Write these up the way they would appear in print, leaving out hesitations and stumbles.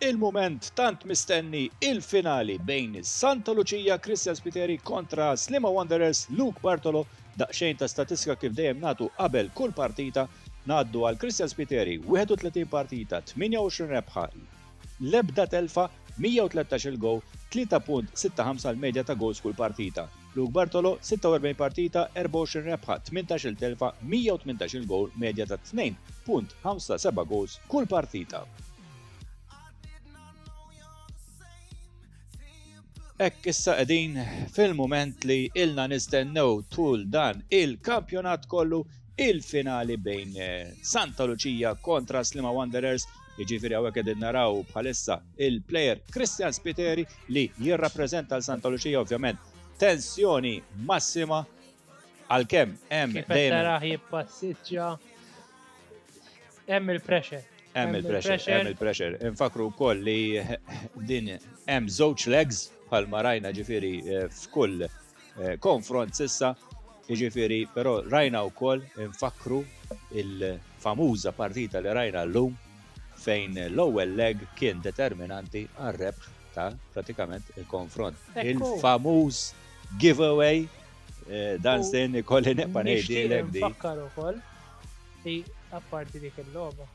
Il-mument tant mistenni, il-finali bejn Santa Lucia Christian Spiteri kontra Sliema Wanderers Luke Bartolo. Daqsxejn ta' statistika kif dejjem nagħtu qabel kull partita. Ngħaddu għal Christian Spiteri, 31 partita, 28 rebħa, l-ebda telfa, 113 il-gowl, 3.65 l-medja ta' goals kull partita. Luke Bartolo, 46 partita, 24 rebħa, 18-il telfa, 118 il-gowl, medja ta' 2.57 goals kull partita. Hekk issa qegħdin fil-mument li ilna nistennew tul dan il-kampjonat kollu, il-finali bejn Santa Lucia kontra Sliema Wanderers. Jiġifieri hawnhekk qegħdin naraw bħalissa il-player Christian Spiteri li jirrappreżenta l Santa Lucia, ovvjament tensjoni massima għalkemm hemm Kif qed tarah jippassiġġa, hemm il-pressure. Hemm il-pressure, hemm il-pressure. Infakru wkoll li din hemm żewġ legs bħalma rajna ġifieri f'kull konfront sissa, jiġifieri però rajna wkoll, infakru il-famuża partita li rajna llum fejn l-ewwel leg kien determinanti għar-rebħ ta' pratikament il-konfront. Il-famuż giveaway, dan sin ikolli nibqa' ngħidilek di. Nfakkar ukoll li apparti dik il-logħba,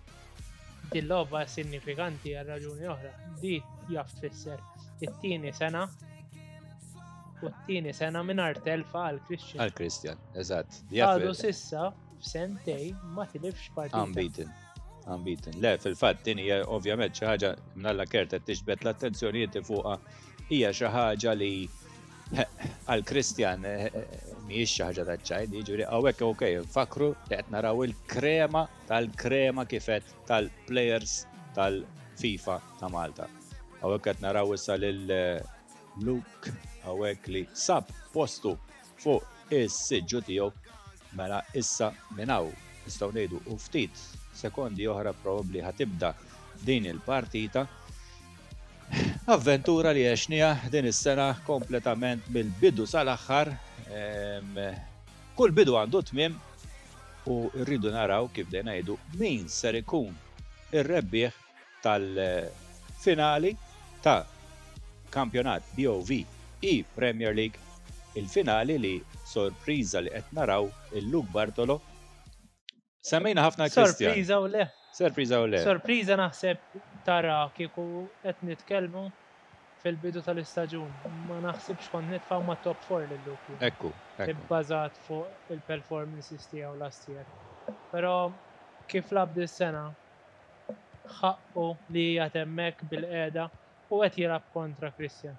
din logħba sinifikanti għal raġuni oħra. Di jaf tfisser it-tieni sena u t-tieni sena mingħajr telfa għal Christian. Għal Christian, eżatt. Għadu sissa f'sentej ma tilifx partita. Unbeaten. Unbeaten. Le, fil-fatt din hija ovvjament xi ħaġa mnalla Kert qed tiġbed l-attenzjoni inti fuqha, hija xi ħaġa li għal Christian mhijiex xi ħaġa taċ-ċajt, jiġifieri hawnhekk okej, nfakru li qed naraw il-krema tal-krema kif qed tal-players tal-FIFA ta' Malta. Hawnhekk qed naraw issa lil Luke hawnhekk li sab postu fuq is-siġġu tiegħu, mela issa minn hawn nistgħu ngħidu u ftit sekondi oħra probabbli ħa tibda din il-partita. Avventura li għexniha din is-sena kompletament mill-bidu sal-aħħar. Kull bidu għandu tmiem u rridu naraw kif dejna ngħidu min ser ikun ir-rebbieħ tal-finali ta' kampjonat BOV E Premier League, il-finali li sorpriża li qed naraw il-Luke Bartolo. Semmejna ħafna Christian. Sorpriża u le. Sorpriża u le. Sorpriża naħseb tara kieku qed nitkellmu fil-bidu tal-istaġun. Ma naħsibx kont nitfgħu ma' top 4 lil Luke. Ekku, ekku. Ibbażat fuq il-performances tiegħu last year. Però kif lagħab dis-sena ħaqqu li qiegħed hemmhekk bil-qiegħda u qed jilgħab kontra Christian.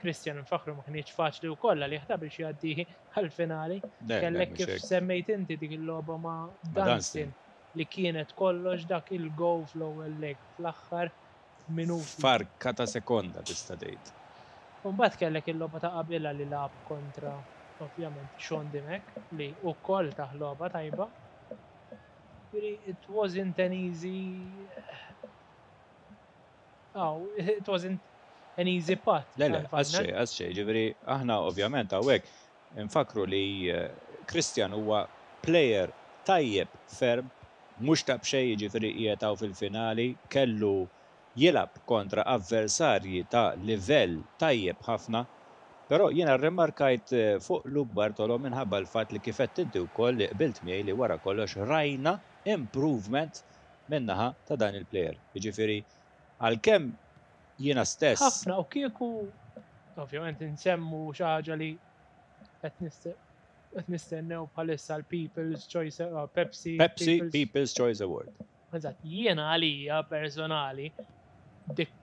Christian nfakkru ma kienx faċli wkoll għalih ta' biex jgħaddi għall-finali. Kellek kif semmejt inti dik il-logħba ma' Dunstan li kienet kollox dak il-go fl-ewwel leg fl-aħħar minuti. Farka ta' sekonda tista' tgħid. U mbagħad kellek il-logħba ta' qabilha li lagħab kontra ovvjament Sean Dimech li wkoll tah logħba tajba. It wasn't an easy Oh, it wasn't an easy path. Le, le, għax xej, ġifieri aħna ovvjament hawnhekk nfakru li Christian huwa player tajjeb ferm, mhux ta' b'xejn jiġifieri qiegħed hawn fil-finali, kellu jilgħab kontra avversarji ta' livell tajjeb ħafna, però jiena rrimarkajt fuq Luke Bartolo minħabba l-fatt li kif għedt inti wkoll li qbilt miegħi li wara kollox rajna improvement min-naħa ta' dan il-player. Jiġifieri għalkemm jiena stess. Ħafna u kieku ovvjament insemmu xi ħaġa li qed nistennew bħalissa l-People's Choice Pepsi Pepsi People's Choice Award. Eżatt, jiena għalija personali dik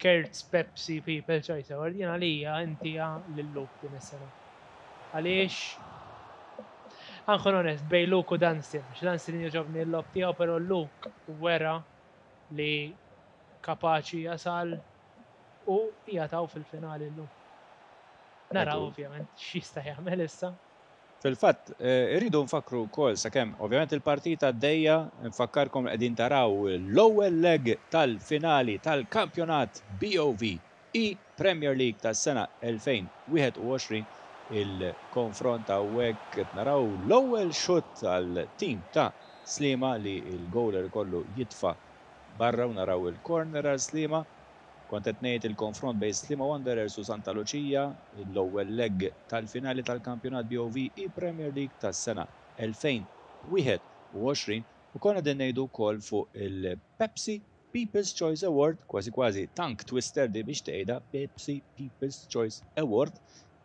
Kurtz Pepsi People's Choice Award jiena għalija intiha lil Luke din is-sena. Għaliex Ħankun onest, bej Luke u Dunstan, għax Dunstan jogħġobni l-logħob tiegħu, però Luke wera li kapaċi jasal u jataw fil-finali llum. Naraw ovvjament x'jista' jagħmel issa. Fil-fatt, irridu nfakkru wkoll sakemm ovvjament il-partita għaddejja, nfakkarkom li qegħdin taraw l-ewwel leg tal-finali tal-kampjonat BOV E Premier League tas-sena 2021, il-konfront hawnhekk qed naraw l-ewwel xutt għal tim ta' Sliema li l-goaler ikollu jitfa' barra u naraw il-corner għal Sliema. Kont qed ngħid il-konfront bejn Sliema Wanderers u Santa Lucia, l-ewwel leg tal-finali tal-kampjonat BOV e-Premier League tas-sena 2021 u konna qegħdin ngħidu wkoll fuq il-Pepsi People's Choice Award, kważi kważi tongue twister di biex tgħidha Pepsi People's Choice Award,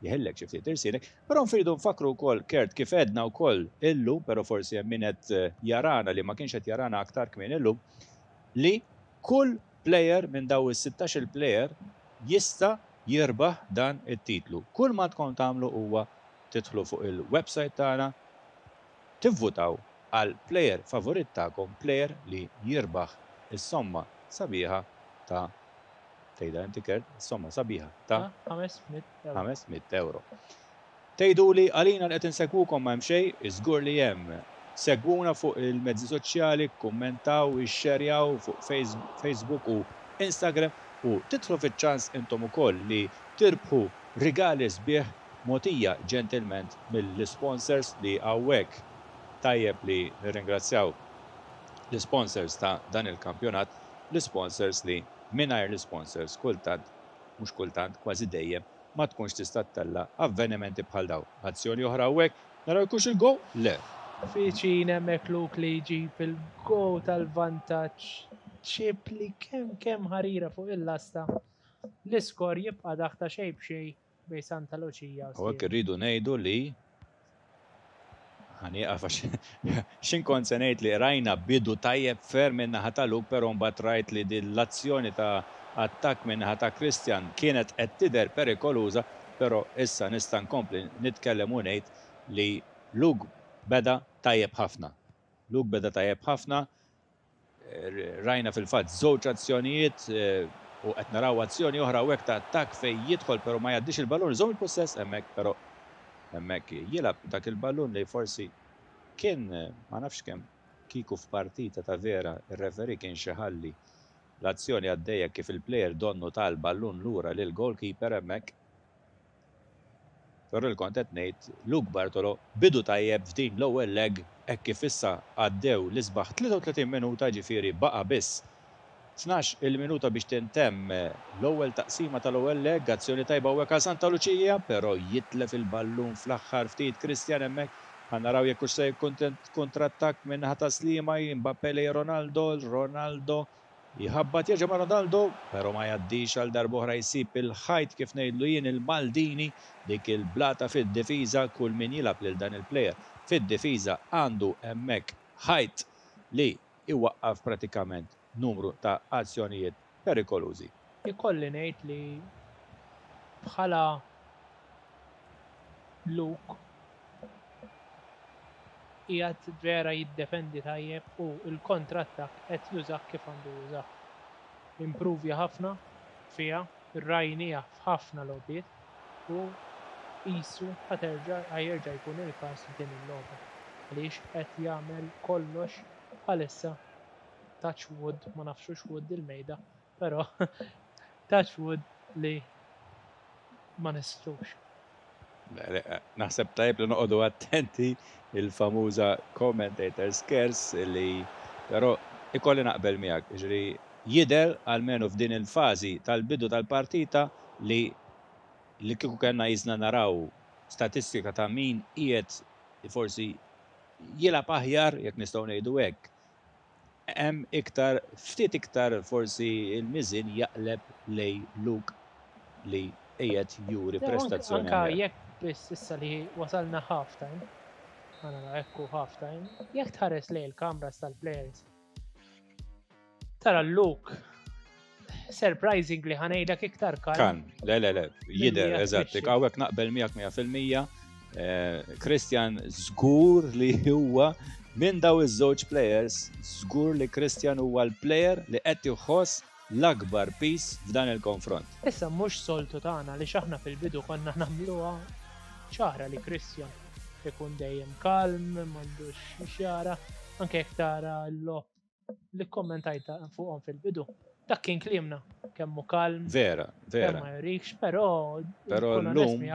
jeħillek xi ftit irsielek, però nfridu nfakru wkoll Kurt kif għedna wkoll illum, però forsi hemm min qed jarana li ma kienx qed jarana aktar kmieni illum, li kull player minn daw is-16 il-player jista' jirbaħ dan it-titlu. Kull ma tkun tagħmlu huwa tidħlu fuq il-website tagħna, tivvutaw għal player favorit tagħkom, player li jirbaħ is-somma sabiħa ta' tgħidha inti Kurt, is-somma sabiħa ta' 500 euro. 500 euro. Tgħidu li għalina li qed insegwukom ma hemm xejn, iżgur li hemm. Segwuna fuq il-mezzi soċjali, kummentaw, ixxerjaw fuq Facebook u Instagram u tidħlu fiċ-ċans intom ukoll li tirbħu rigali sbieħ mogħtija ġentilment mill-sponsors li hawnhekk tajjeb li nirringrazzjaw l-sponsors ta' dan il-kampjonat, l-sponsors li mingħajr l-sponsors kultant, mhux kultant, kważi dejjem ma tkunx tista' ttella' avvenimenti bħal daw. Azzjoni oħra hawnhekk, naraw jkunx il-goal? Le. Viċin hemmhekk Luke li jġib il-goal tal-vantaġġ chip li kemm kemm ħarira fuq il-lasta. L-iskor jibqa' dak ta' xejn b'xejn bejn Santa Lucia u U hekk irridu ngħidu li ħa nieqaf għax x'in kont se ngħid li rajna bidu tajjeb ferm minn naħa ta' Luke, però mbagħad rajt li din l-azzjoni ta' attakk minn naħa ta' Christian kienet qed tidher perikoluża, però issa nista' nkompli nitkellem u ngħid li Luke beda tajjeb ħafna. Luke beda tajjeb ħafna, rajna fil-fatt żewġ azzjonijiet u qed naraw azzjoni oħra hawnhekk ta' attakk fejn jidħol però ma jgħaddix il-ballun, iżomm il-pussess hemmhekk però hemmhekk jilgħab dak il-ballun li forsi kien ma nafx kemm kieku f'partita ta' vera ir-referee kien xi ħalli l-azzjoni għaddejja kif il-player donnu tal-ballun lura lil goalkeeper hemmhekk. Però li kont qed ngħid Luke Bartolo bidu tajjeb f'din l-ewwel leg hekk kif issa għaddew l-isbaħ 33 minuta ġifieri baqa' biss 12 il-minuta biex tintemm l-ewwel taqsima tal-ewwel leg, azzjoni tajba hawnhekk għal Santa Lucia, però jitlef il-ballun fl-aħħar ftit Christian hemmhekk. Ħa naraw jekk hux se jkun kontrattakk minn naħa ta' Sliema, Mbappé lejn Ronaldo, Ronaldo jħabbat jerġa' ma' Ronaldo, però ma jgħaddix għal darb'oħra jsib il-ħajt kif ngħidlu jien il-Maldini, dik il-blata fid-difiża, kull min jilgħab lil dan il-player fid-difiża għandu hemmhekk ħajt li iwaqqaf pratikament numru ta' azzjonijiet perikolużi. Ikolli ngħid li bħala Luke qiegħed vera jiddefendi tajjeb u l-kontrattakk qed jużah kif għandu jużah. Improvja ħafna fiha, rajniha f'ħafna logħbiet u qisu ħa terġa' ħa jerġa' jkun il-każ f'din il-logħba għaliex qed jagħmel kollox bħalissa touch wood, ma nafx hux wood il-mejda, però touch wood li ma nislux. Naħseb tajjeb li noqogħdu attenti il-famuża commentator's curse li però ikolli naqbel miegħek, ġifieri jidher almenu f'din il-fażi tal-bidu tal-partita li li kieku kellna jisna naraw statistika ta' min qiegħed forsi jilgħab aħjar jekk nistgħu ngħidu hekk. Hemm iktar ftit iktar forsi il-miżin jaqleb lejn Luke li qiegħed juri prestazzjoni. Anka jekk biss issa li wasalna half time, għana ekku half time, jekk tħares lejn il-kameras tal-players, tara Luke surprisingly ħa ngħidlek iktar kalm. Kalm, le, le, le, jidher, eżatt, hawnhekk naqbel miegħek 100%. Christian żgur li huwa minn daw iż-żewġ players, żgur li Christian huwa l-player li qed iħoss l-akbar piż f'dan il-konfront. Issa mhux soltu tagħna li x'aħna fil-bidu konna nagħmluha ċara li Christian ikun dejjem kalm, m'għandux xjara, anke jekk tara l-logħob li kommentajta fuqhom fil-bidu. Dak kien kliemna, kemm hu kalm. Vera, vera. Kemm ma jurikx, però Però llum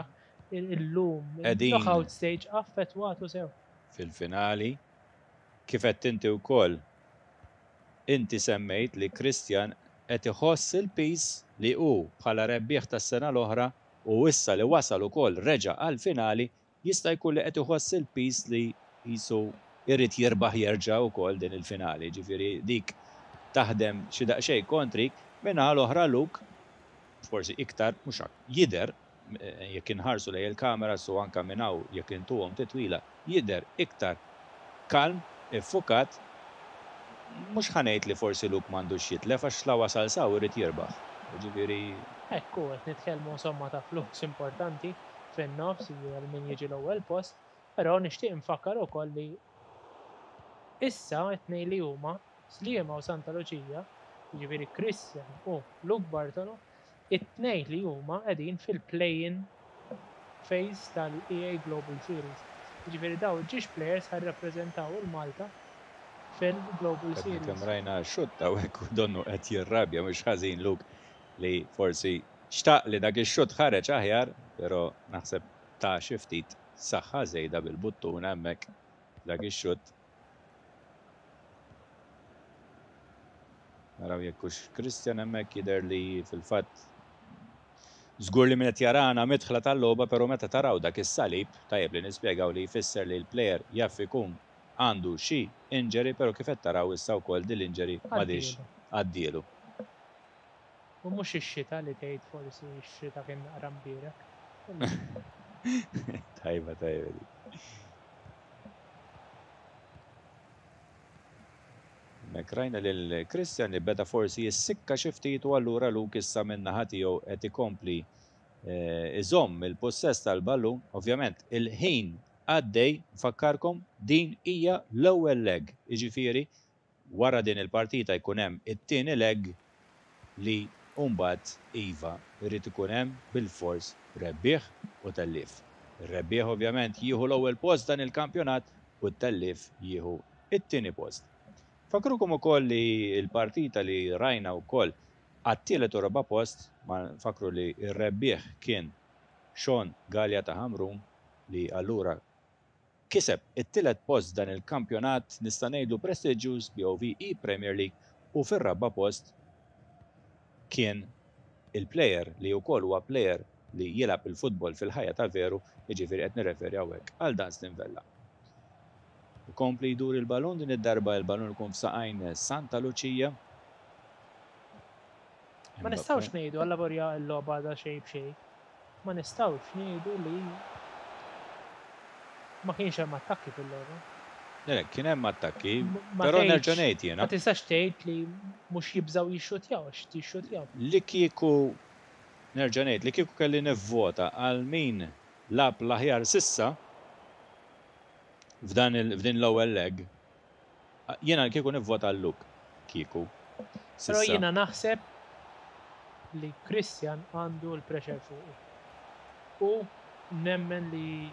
illum knockout stage affettwatu sew. Fil-finali, kif qed inti wkoll. Inti semmejt li Christian qed iħoss il-piż li hu bħala rebbieħ tas-sena l-oħra u issa li wasal ukoll reġa' għall-finali, jista' jkun li qed iħoss il-piż li qisu jrid jirbaħ jerġa' wkoll din il-finali. Ġifieri dik taħdem xi daqsxejn kontrik. Min-naħa l-oħra Luke forsi iktar, mhux jidher, jekk inħarsu lejn il-kameras u anke minn hawn jekk intuhom titwila, jidher iktar kalm, iffukat. Mhux ħa ngħid li forsi Luke m'għandux jitlef għax la wasal s'hawn irid jirbaħ. Jiġifieri. Hekk hu, qed nitkellmu insomma ta' flus importanti fin-nofs, jiġifieri għal min jiġi l-ewwel post, però nixtieq infakkar ukoll li issa t-tnejn li huma, Sliema u Santa Luċija, jiġifieri Christian u Luke Bartolo, it-tnejn li huma qegħdin fil-play-in phase tal-EA Global Series. Jiġifieri dawn ġiex players ħa jirrappreżentaw il-Malta fil-Global Għadna Series. kemm rajna xutt hawnhekk u donnu qed jirrabja mhux ħażin Luke li forsi xtaq li dak ix-xutt ħareġ aħjar, però naħseb ta xi ftit saħħa żejda bil-buttuna hemmhekk f'dak ix-xutt. Naraw jekk hux Christian hemmhekk jidher li fil-fatt żgur li min qed jarana midħla tal-logħba però meta taraw dak is-salib tajjeb li nispjegaw li jfisser li l-plejer jaf ikun għandu xi injury però kif qed taraw issa wkoll din l-injury m'għadhiex għaddielu. U mhux ix-xita li tgħid forsi x-xita kien naqra mbierek. Tajba tajba dik. Hemmhekk rajna lil Christian li beda forsi jissikka xi ftit u allura Luke issa min-naħa tiegħu qed ikompli iżomm il-pussess tal-ballun. Ovvjament il-ħin għaddej, nfakkarkom din hija l-ewwel leg, jiġifieri wara din il-partita jkun hemm it-tieni leg li mbagħad iva jrid ikun hemm bilfors rebbieħ u tellief. Ir-rebbieħ ovvjament jieħu l-ewwel post dan il-kampjonat u t-tellief jieħu it-tieni post. Nfakkrukom ukoll li l-partita li rajna wkoll għat-tielet u raba' post, ma nfakkru li r-rebbieħ kien Sean Galea ta' Ħamrun li allura kiseb it-tielet post dan il-kampjonat nista' ngħidlu prestiġjuż BOV E-Premier League u fir-raba' post kien il-plejer li wkoll huwa plejer li jilgħab il-futbol fil-ħajja tal-veru, jiġifieri qed nirreferi hawnhekk għal Dunstan Vella. Ikompli jdur il-balun, din id-darba il-balun ikun f'saqajn Santa Lucia. Ma nistgħux ngħidu allavorja l-logħba għadha xejn b'xejn. Ma nistgħux ngħidu li ma kienx hemm attakki fil-logħba. Le, kien hemm attakki, però nerġa' ngħid jiena. Ma tistax tgħid li mhux jibżgħu jixxutjaw għax jixxutjaw. Li kieku nerġa' ngħid li kieku kelli nivvota għal min lagħab l-aħjar sissa f'dan f'din l-ewwel leg, jiena kieku nivvota għal Luke kieku Però sissa. jiena naħseb li Christian għandu l-pressure fuqu. U nemmen li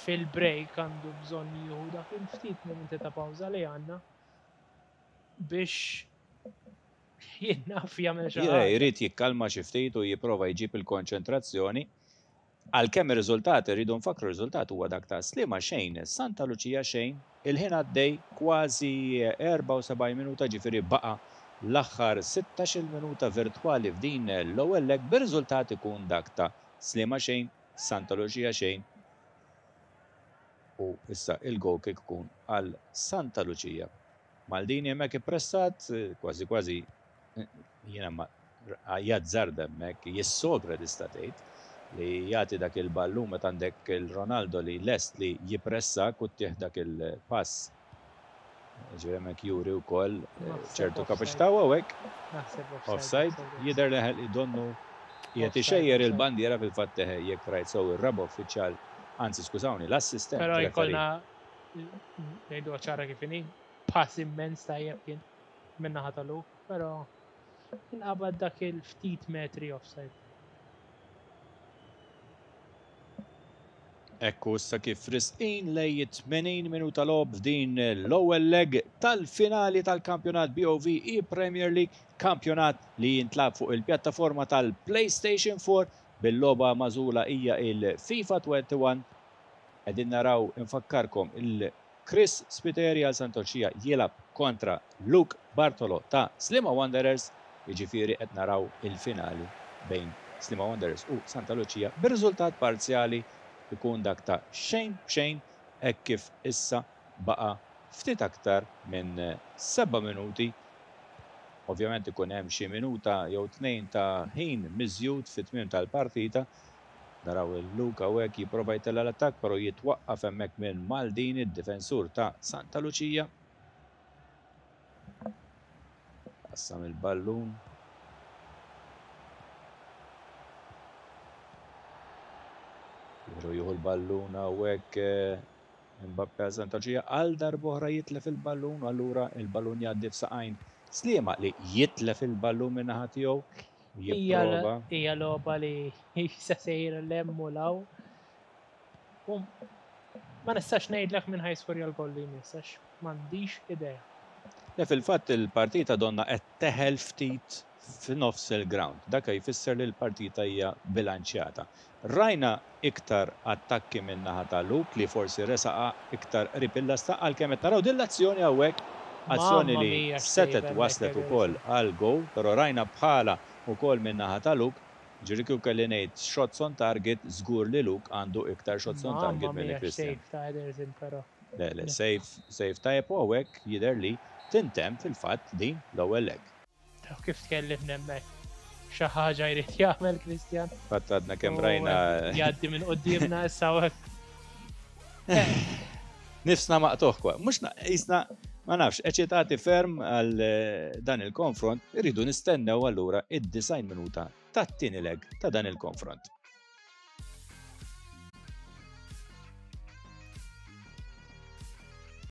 fil-break għandu bżonn jieħu dak il-ftit momenti ta' pawża li għandna biex jien naf jagħmel xi ħaġa. Jrid jikkalma xi ftit u jipprova jġib il-konċentrazzjoni. Għalkemm ir-riżultat irridu nfakkru r-riżultat huwa dak ta' Sliema xejn, Santa Lucia xejn, il-ħin għaddej kważi 74 minuta ġifieri baqa' l-aħħar 16-il minuta virtwali f'din l-ewwel leg bir-riżultat ikun dak ta' Sliema xejn, Santa Lucia xejn u issa il-goal kick ikun għal Santa Lucia. Maldini hemmhekk ippressat, kważi kważi jiena ma jazzarda hemmhekk, jissogra tista' tgħid li jagħti dak il-ballun meta għandek il-Ronaldo li lest li jippressak u ttih dak il-pass. Ġifieri hemmhekk juri wkoll ċertu kapaċità u hawnhekk offside jidher li donnu qiegħed ixejjer il-bandiera fil-fatt jekk rajt sew ir-raba' uffiċjal, anzi skużawni, l-assistent. Però jkollna ngħiduha ċara kif inhi, pass immens tajjeb kien min-naħa ta' Luke, però inqabad dak il-ftit metri offside. Ekku issa kif risqin lej 80 minuta logħob f'din l-ewwel leg tal-finali tal-kampjonat BOV e-Premier League, kampjonat li jintlagħab fuq il-pjattaforma tal-PlayStation 4 bil-logħba magħżula hija il-FIFA 21. Qegħdin naraw infakkarkom il Chris Spiteri għal Santa Lucia jilgħab kontra Luke Bartolo ta' Sliema Wanderers, jiġifieri qed naraw il-finali bejn Sliema Wanderers u Santa Lucia bir-riżultat parzjali jkun dak ta' xejn b'xejn hekk kif issa baqa' ftit aktar minn seba' minuti. Ovvjament ikun hemm xi minuta jew tnejn ta' ħin miżjud fit-tmiem tal-partita. Naraw lil Luke hawnhekk jipprova jtella' l-attakk però jitwaqqaf hemmhekk minn Maldini, d-difensur ta' Santa Lucia. Qassam il-ballun. Jieħu jieħu l-ballun hawnhekk eh, Mbappe għal Santa Lucia għal darb'oħra jitlef il-ballun u allura il-ballun jgħaddi f'saqajn Sliema li jitlef il-ballun min-naħa tiegħu jipprova. Hija logħba li jisa sejra l-hemm u l-hawn. U ma nistax ngħidlek min ħa jiskorja l-goal li jmiss għax m'għandix idea. Le fil-fatt il-partita donnha qed teħel ftit f'nofs il-ground. Dak jfisser li l-partita hija bilanċjata. Rajna iktar attakki min naħa ta' Luke li forsi resaqha iktar qrib il-lasta għalkemm qed naraw din l-azzjoni hawnhekk, azzjoni Mamma li mia x'save setgħet hemmhekk waslet ukoll Ederson. għal goal, però rajna bħala ukoll min naħa ta' Luke, ġifieri kieku kelli ngħid shots on target żgur li Luke għandu iktar shots on Mamma target milli mia Christian. x'save ta' Ederson però. Le, le, save, save tajjeb u hawnhekk jidher li tintemm fil-fatt din l-ewwel leg. Taf kif tkellimna hemmhekk. Xi ħaġa jrid jagħmel Christian. Fatt għadna kemm rajna. Jgħaddi minn qudiemna issa hekk. Nifsna maqtuħ kwa. Mhux jisna ma nafx, eċitati ferm għal eh, dan il-konfront, irridu nistennew allura id-design minuta tat-tieni leg ta' dan il-konfront.